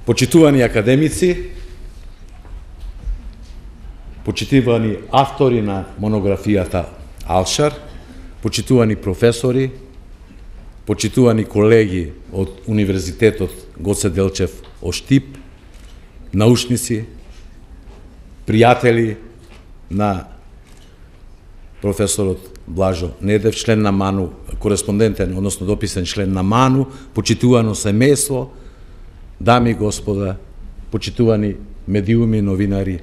почитувани академици, почитувани автори на монографијата Алшар, почитувани професори, почитувани колеги од Универзитетот Гоце Делчев од Штип, научници, пријатели на професорот Блажо Недев, член на МАНУ, кореспондентен, односно дописен член на МАНУ, почитувано семејство, дами и господа, почитувани медиуми, новинари,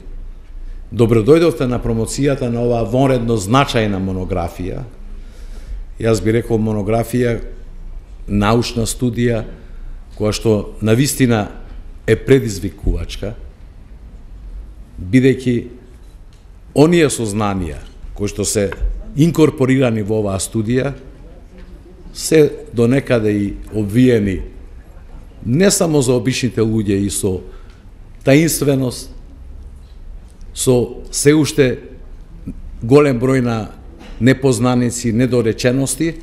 добродојдовте на промоцијата на оваа вонредно значајна монографија. Јас би рекол монографија, научна студија, која што навистина е предизвикувачка, бидејќи оние сознанија кои што се инкорпорирани во оваа студија се до некаде и обвиени не само за обичните луѓе и со таинственост, со се уште голем број на непознаници, недоречености,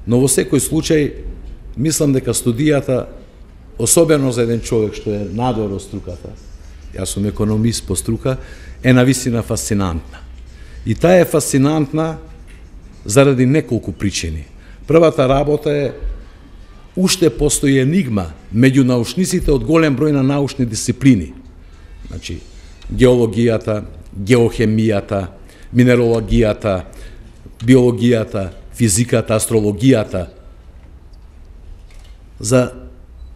но во секој случај мислам дека студијата, особено за еден човек што е надвор од струката, јас сум економист по струка, е навистина фасцинантна. И таа е фасцинантна заради неколку причини. Првата работа е, уште постои енигма меѓу научниците од голем број на научни дисциплини. Значи, геологијата, геохемијата, минерологијата, биологијата, физиката, астрологијата, за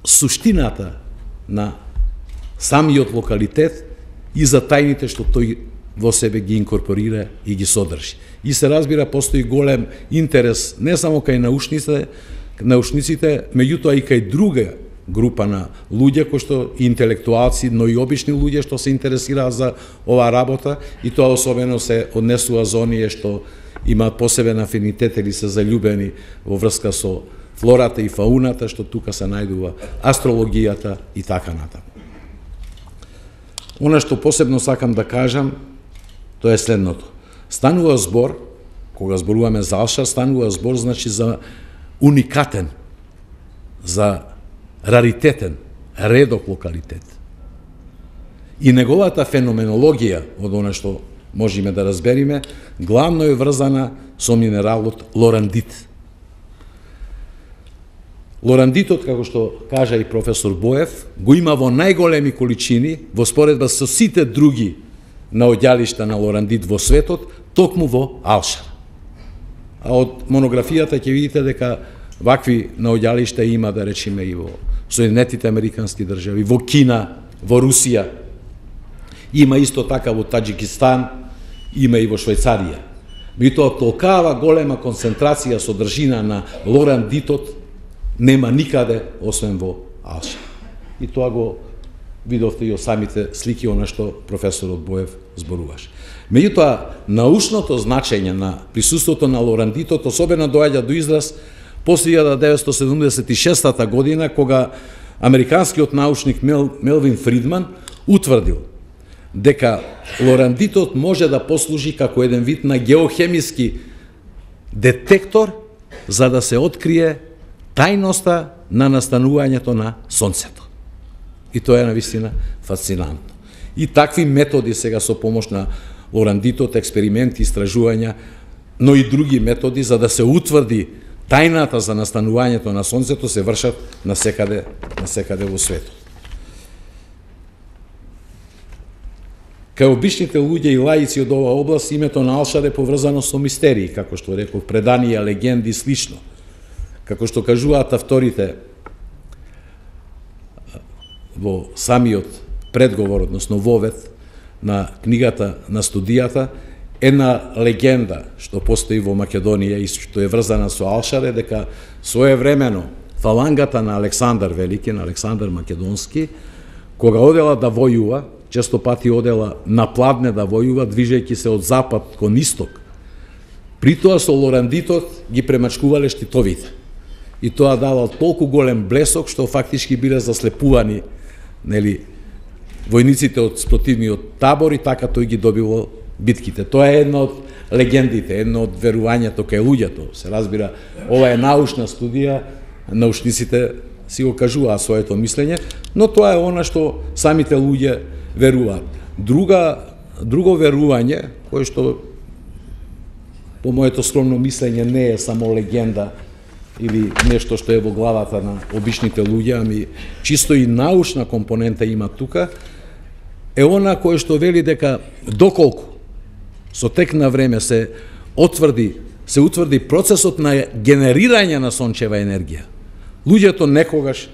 суштината на самиот локалитет и за тајните што тој во себе ги инкорпорира и ги содржи. И се разбира, постои голем интерес не само кај научниците, меѓутоа и кај друга група на луѓе кои што интелектуалци, но и обични луѓе што се интересираат за оваа работа, и тоа особено се однесува за оние што имаат посебен афинитет или се заљубени во врска со флората и фауната, што тука се најдува астрологијата и така натаму. Она што посебно сакам да кажам, тоа е следното. Станува збор, кога зборуваме за Алшар, станува збор значи за уникатен, за раритетен, редок локалитет. И неговата феноменологија, од она што можеме да разбериме, главно е врзана со минералот лорандит. Лорандитот, како што кажа и професор Боев, го има во најголеми количини во споредба со сите други наоѓалишта на лорандит во светот, токму во Алшар. А од монографијата ќе видите дека вакви наоѓалишта има, да речеме, и во Соединетите Американски држави, во Кина, во Русија, има исто така во Таџикистан, има и во Швајцарија. Меѓутоа, толкава голема концентрација содржина на лорандитот нема никаде, освен во Алшар. И тоа го видовте и од самите слики, она што професорот Боев зборуваше. Меѓутоа, научното значење на присуството на лорандитот особено доаѓа до израз после 1976 година, кога американскиот научник Мелвин Фридман утврдил дека лорандитот може да послужи како еден вид на геохемиски детектор за да се открие тајноста на настанувањето на Сонцето. И тоа е навистина фасцинантно. И такви методи сега со помош на лорандитот, експерименти, истражувања, но и други методи за да се утврди тајната за настанувањето на Сонцето се вршат насекаде во светот. Кај обичните луѓе и лаици од оваа област, името на Алшар е поврзано со мистерии, како што реков, преданија, легенди и слично. Како што кажуваат авторите во самиот предговор, односно вовед на книгата на студијата, една легенда што постои во Македонија и што е врзана со Алшар е дека своевремено фалангата на Александар Велики, на Александар Македонски, кога одела да војува, често пати одела на пладне да војува, движејќи се од запад кон исток. При тоа со лорандитот ги премачкувале штитовите. И тоа давал толку голем блесок што фактички биле заслепувани, нели, војниците од спротивниот табор и така тој ги добивал битките. Тоа е една од легендите, едно од верувањето кај луѓето. Се разбира, ова е научна студија, научниците си го кажуваат своето мислење, Но тоа е она што самите луѓе веруваат. Друго верување, кое што по моето скромно мислење не е само легенда или нешто што е во главата на обичните луѓе, ами чисто и научна компонента има тука, е она кое што вели дека доколку со тек на време се утврди процесот на генерирање на сончева енергија. Луѓето некогаш,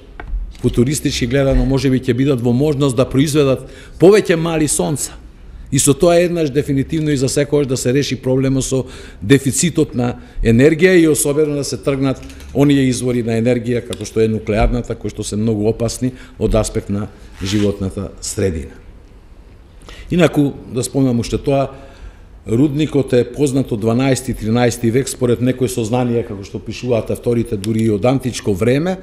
футуристички гледано, можеби ќе бидат во можност да произведат повеќе мали сонца. И со тоа еднаш дефинитивно и за секогаш да се реши проблемот со дефицитот на енергија и особено да се тргнат оние извори на енергија како што е нуклеарната, кои што се многу опасни од аспект на животната средина. Инаку, да спомнам уште тоа, рудникот е познат од 12-13 век, според некои сознанија, како што пишуваат авторите, дури и од античко време.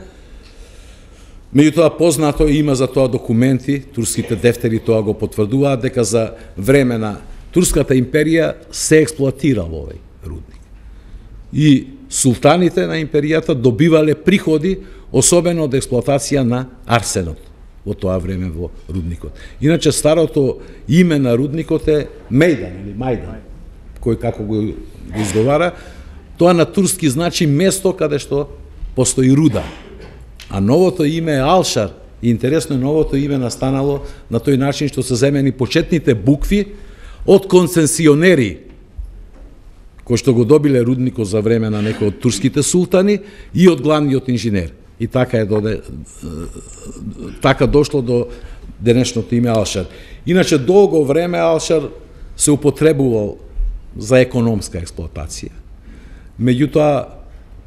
Меѓутоа познато има за тоа документи, турските дефтери тоа го потврдуваат, дека за време на Турската империја се експлоатирал овој рудник. И султаните на империјата добивале приходи, особено од експлоатација на арсенот во тоа време во рудникот. Иначе старото име на рудникот е Мејдан или Мајдан, кој како го изговара, тоа на турски значи место каде што постои руда. А новото име е Алшар. И интересно, новото име настанало на тој начин што се земени почетните букви од концесионери кои што го добиле рудникот за време на некои од турските султани и од главниот инженер. И така дошло до денешното име Алшар. Иначе долго време Алшар се употребувал за економска експлоатација. Меѓутоа,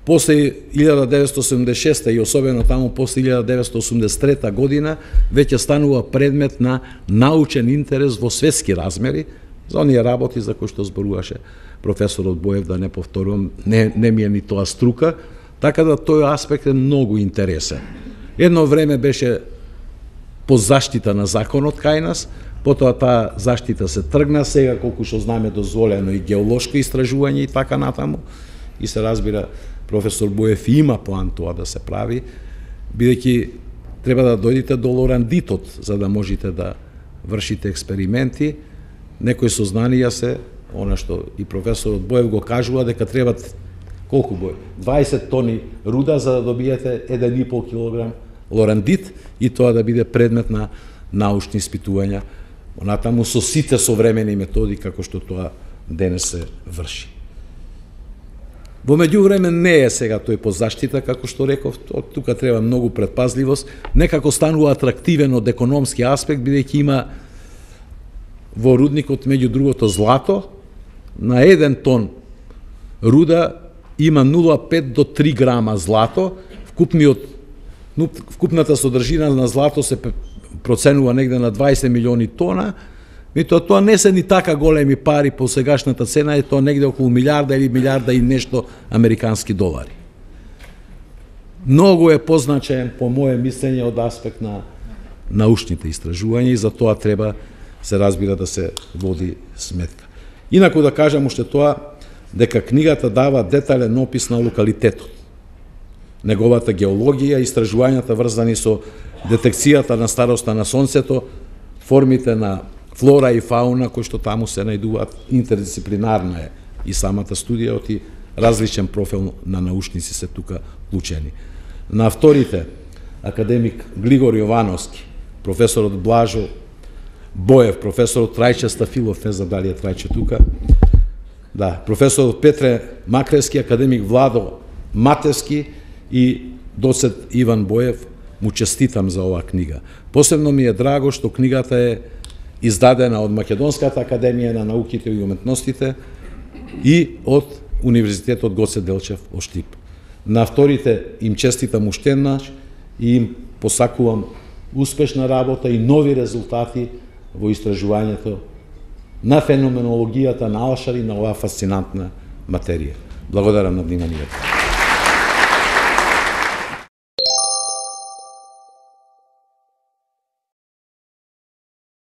после 1976 и особено таму после 1983 година веќе станува предмет на научен интерес во светски размери за оние работи за кои што зборуваше професорот Боев, да не повторувам, не ми е ни тоа струка, така да тој аспект е многу интересен. Едно време беше по заштита на законот кај нас, потоа таа заштита се тргна, сега колку што знаме дозволено и геолошко истражување и така натаму, и се разбира професор Боев има план тоа да се прави, бидејќи треба да дојдете до лорандитот за да можете да вршите експерименти. Некои сознанија се, она што и професорот Боев го кажува, дека требат колку бој? 20 тони руда за да добиете 1,5 килограм лорандит и тоа да биде предмет на научни испитувања, онатаму со сите современи методи како што тоа денес се врши. Во меѓувреме не е сега тој под заштита, како што реков, тука треба многу предпазливост, некако станува атрактивен од економски аспект, бидејќи има во рудникот меѓу другото злато, на 1 тон руда има 0,5 до 3 грама злато, вкупната содржина на злато се проценува негде на 20 милиони тона, тоа не се ни така големи пари по сегашната цена, е тоа негде околу милиарда или милиарда и нешто американски долари. Многу е позначаен, по моје мислење, од аспект на научните истражувања и за тоа треба, се разбира, да се води сметка. Инаку да кажам уште тоа, дека книгата дава детален опис на локалитетот, неговата геологија, истражувањата врзани со детекцијата на староста на Сонцето, формите на флора и фауна кои што таму се најдуваат, интердисциплинарна е и самата студија, оти различен профил на научници се тука вклучени. На авторите, академик Глигор Јовановски, професорот Блажо Боев, професорот Трајче Стафилов, не знам дали е Трајче тука, да, професорот Петре Макрески, академик Владо Матевски и доцент Иван Боев, му честитам за оваа книга. Посебно ми е драго што книгата е издадена од Македонската академија на науките и уметностите и од Универзитетот Гоце Делчев од Штип. На авторите им честитам уште еднаш и им посакувам успешна работа и нови резултати во истражувањето на феноменологијата на Алшар и на оваа фасцинантна материја. Благодарам на вниманието.